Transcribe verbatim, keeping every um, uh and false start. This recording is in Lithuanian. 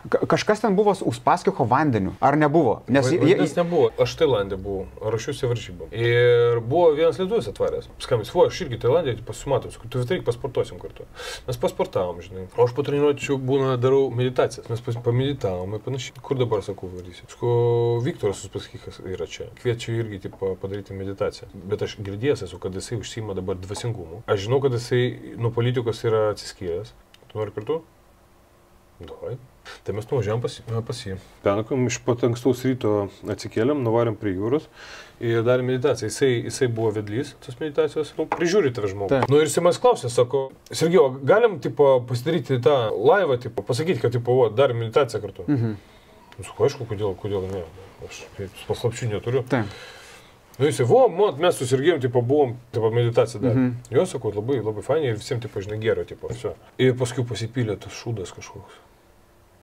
Kažkas ten buvo su Uspaskicho vandeniu, ar nebuvo? Nes Vandens nebuvo. Aš Tailandė buvau, ruošiuosi varžybom. Ir buvo vienas lietuvis atvaręs. Skambės, vo, aš irgi Tailandė pasimatom, tu vis reik pasportuosim kartu. Mes pasportavom, žinai. O aš po treniruočių būna darau meditacijas. Mes pameditavom ir panašiai. Kur dabar sakau, varysiu? Sko, Viktoras Uspaskichas yra čia. Kviečiu irgi tipo, padaryti meditaciją. Bet aš girdėjęs esu, kad jisai užsiima dabar dvasingumu. Aš žinau, kad jisai nuo politikos yra atsiskyręs. Tu nori kartu? Davai. Tai mes nuvažiavam pas, pas jį. Penakom, iš pat ankstaus ryto atsikėlėm, nuvarėm prie jūros ir darėm meditaciją. Jisai, jisai buvo vedlys tos meditacijos, nu, prižiūri tave žmogų. Nu ir jisai manęs klausė, sako, Sergejau, galim tipo, pasidaryti tą laivą, tipo, pasakyti, kad tipo, darėm meditaciją kartu. Mhm. Nu, sako, aišku, kodėl, kodėl ne. Aš paslapčių neturiu. Taip. Nu, jisai, vo, mat, mes su Sergejum, tipo, buvom, tipo, meditaciją darė. Mhm. Jo, sako, labai, labai fainiai ir visiems, tipo, žinai, gero, tipo, viso. Ir paskui pasipylė tas šūdas kažkoks.